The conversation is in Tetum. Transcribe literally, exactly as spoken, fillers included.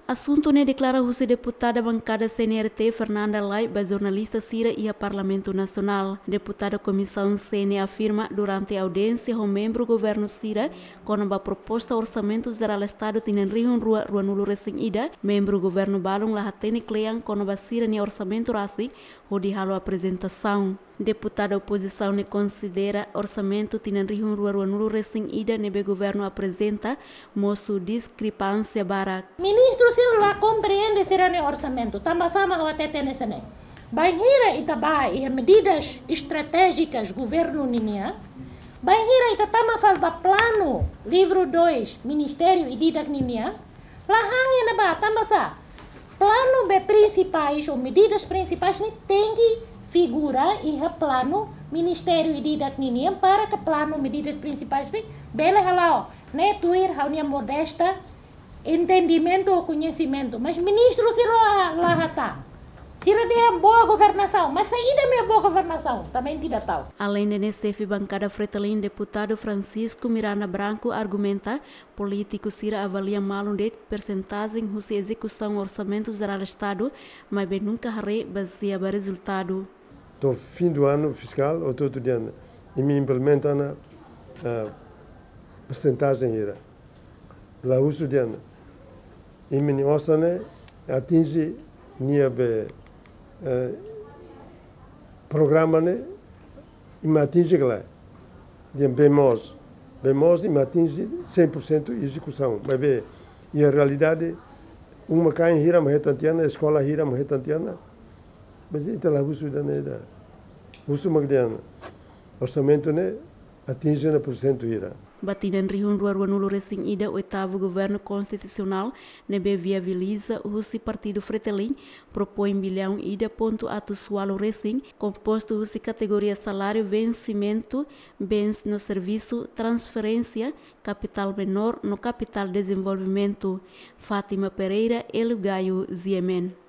Asuntu ne'e deklara husi deputada bankada C N R T, Fernanda Lay, ba jornalista sira iha Parlamentu Nasionál. Deputada Komisaun C ne'e afirma durante audiénsia ho membru governu sira kona-ba proposta Orsamentu Jerál Estadu tinan rihun rua ruanulu resin ida, membru governu balun la hatene kle'an kona-ba sira-nia orsamentu rasik hodi halo aprezentasaun. Deputada opozisaun ne'e konsidera orsamentu tinan rihun rua ruanulu resin ida ne'ebé governu aprezenta mosu diskrepánsia barak. Ministru sira la komprende sira-nia orsamentu, tanba sá mak ha'u hatete hanesan ne'e. Bainhira ita bá iha medidas estratéjikas governu ninian, bainhira ita tama fali ba planu livru dois, ministériu ida-idak ninian, la han iha ne'ebá, tanba sá? Planu be prinsipais ou medidas prinsipais ne'e tenke figura iha planu ministériu ida-idak ninian para ke planu medidas prinsipais ne'e bele hala'o. Ne'e tuir ha'u-nia modesta entendimentu ou koñesimentu, mas ministru sira la, la hatán. Sira dehan boa governasaun, mas saida mak boa governasaun? Também tidak tahu. Alende ne'e, xefe bankada Fretilin, deputadu Francisco Miranda Branco, argumenta polítiku sira avalia malu de'it persentajen husi ezekusaun Orsamentu Jerál Estadu, maibé nunka haree bazeia ba rezultadu. To'o fim do ano fiscal, hotu-hotu dehan, imi implementa ona, ah, persentajen hira. La husu dehan, imi-nia orsa ne'e atinje nia be, eh, programa ne'e, imi atinje ka lae? Dehan bee moos. Bee moos imi atinje cem por cento ezekusaun. Maibé, iha realidade, uma-kain hira mak hetan tiha ona, eskola hira mak hetan tiha ona. Mas ita la husu ida-ne'e ida. Husu mak dehan, orsamentu ne'e atinje ona porsentu hira. Ba tinan rihun rua ruanulu resin ida, oitavu governu konstitusionál ne'ebé viabiliza husi partidu Fretilin propoin biliaun ida pontu atus ualu resin, kompostu husi kategoria saláriu, vensimentu, bens no servisu, transferénsia, kapitál menór no kapitál dezenvolvimentu. Fátima Pereira, Hélio Gaio, G M N.